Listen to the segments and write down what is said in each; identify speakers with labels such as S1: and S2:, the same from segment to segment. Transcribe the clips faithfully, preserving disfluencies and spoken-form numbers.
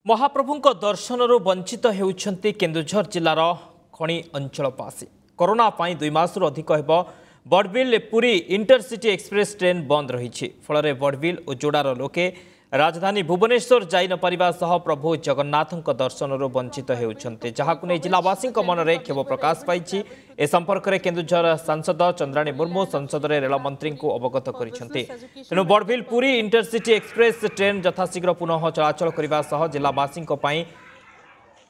S1: ମହାପ୍ରଭୁଙ୍କ ଦର୍ଶନରୁ ବଞ୍ଚିତ ହେଉଛନ୍ତି କେନ୍ଦୁଝର ଜିଲ୍ଲାର ଖଣି ଅଞ୍ଚଳବାସୀ। କରୋନା ପାଇଁ ଦୁଇ ମାସରୁ ଅଧିକ ହେବ Barbil Puri intercity express train ବନ୍ଦ ରହିଛି। ଫଳରେ ବଡ଼ବିଲ ଓ ଯୋଡ଼ାର ଲୋକେ ରାଜଧାନୀ ଭୁବନେଶ୍ୱର ଯାଇ ନପାରିବା ସହ ପ୍ରଭୁ ଜଗନ୍ନାଥଙ୍କ ଦର୍ଶନରୁ ବଞ୍ଚିତ ହେଉଛନ୍ତି, ଯାହାକୁ ନେଇ ଜିଲ୍ଲାବାସୀଙ୍କ ମନରେ କ୍ଷୋଭ ପ୍ରକାଶ ପାଇଛି। ଏ ସମ୍ପର୍କରେ କେନ୍ଦୁଝର ସାଂସଦ ଚନ୍ଦ୍ରାଣୀ ମୁର୍ମୁ ସଂସଦରେ ରେଳମନ୍ତ୍ରୀଙ୍କୁ ଅବଗତ କରିଛନ୍ତି। ତେଣୁ Barbil Puri intercity express train ଯଥାଶୀଘ୍ର ପୁନଃ ଚଳାଚଳ କରିବା ସହ ଜିଲ୍ଲାବାସୀଙ୍କ ପାଇଁ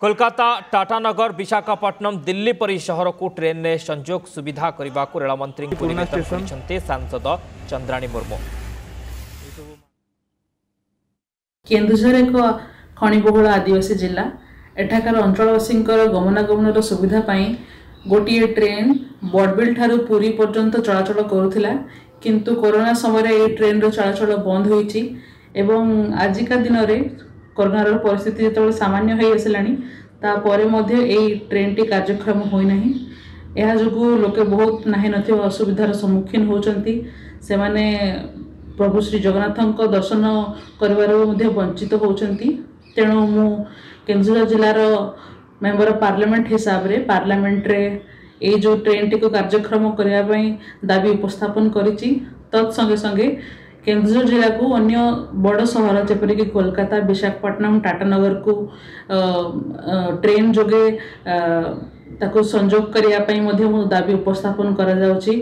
S1: କୋଲକାତା, ଟାଟାନଗର, ବିଶାଖାପଟ୍ଟନମ, ଦିଲ୍ଲୀ ପରି ସହରକୁ ଟ୍ରେନ୍ରେ ସଂଯୋଗ ସୁବିଧା କରିବାକୁ ରେଳମନ୍ତ୍ରୀଙ୍କୁ ନିବେଦନ କରିଛନ୍ତି ସାଂସଦ ଚନ୍ଦ୍ରାଣୀ ମୁର୍ମୁ।
S2: କେନ୍ଦୁଝର ଏକ ଖଣିବହୁଳ ଆଦିବାସୀ ଜିଲ୍ଲା। ଏଠାକାର ଅଞ୍ଚଳବାସୀଙ୍କର ଗମନାଗମନର ସୁବିଧା ପାଇଁ ଗୋଟିଏ ଟ୍ରେନ୍ ବଡ଼ବିଲ ଠାରୁ ପୁରୀ ପର୍ଯ୍ୟନ୍ତ ଚଳାଚଳ କରୁଥିଲା, କିନ୍ତୁ କରୋନା ସମୟରେ ଏହି ଟ୍ରେନ୍ର ଚଳାଚଳ ବନ୍ଦ ହୋଇଛି ଏବଂ ଆଜିକା ଦିନରେ କରୋନାର ପରିସ୍ଥିତି ଯେତେବେଳେ ସାମାନ୍ୟ ହୋଇ ଆସିଲାଣି, ତାପରେ ମଧ୍ୟ ଏଇ ଟ୍ରେନ୍ଟି କାର୍ଯ୍ୟକ୍ଷମ ହୋଇନାହିଁ। ଏହା ଯୋଗୁଁ ଲୋକେ ବହୁତ ନାହିଁ ନଥିବା ଅସୁବିଧାର ସମ୍ମୁଖୀନ ହେଉଛନ୍ତି। ସେମାନେ ପ୍ରଭୁ ଶ୍ରୀ ଜଗନ୍ନାଥଙ୍କ ଦର୍ଶନ କରିବାରୁ ମଧ୍ୟ ବଞ୍ଚିତ ହେଉଛନ୍ତି। ତେଣୁ ମୁଁ କେନ୍ଦୁଝର ଜିଲ୍ଲାର ମେମ୍ବର ଅଫ୍ ପାର୍ଲାମେଣ୍ଟ ହିସାବରେ ପାର୍ଲାମେଣ୍ଟରେ ଏଇ ଯେଉଁ ଟ୍ରେନ୍ଟିକୁ କାର୍ଯ୍ୟକ୍ଷମ କରିବା ପାଇଁ ଦାବି ଉପସ୍ଥାପନ କରିଛି। ତତ୍ ସଙ୍ଗେ ସଙ୍ଗେ କେନ୍ଦୁଝର ଜିଲ୍ଲାକୁ ଅନ୍ୟ ବଡ଼ ସହର ଯେପରିକି କୋଲକାତା, ବିଶାଖାପଟ୍ଟନମ, ଟାଟାନଗରକୁ ଟ୍ରେନ୍ ଯୋଗେ ତାକୁ ସଂଯୋଗ କରିବା ପାଇଁ ମଧ୍ୟ ମୁଁ ଦାବି ଉପସ୍ଥାପନ କରାଯାଉଛି।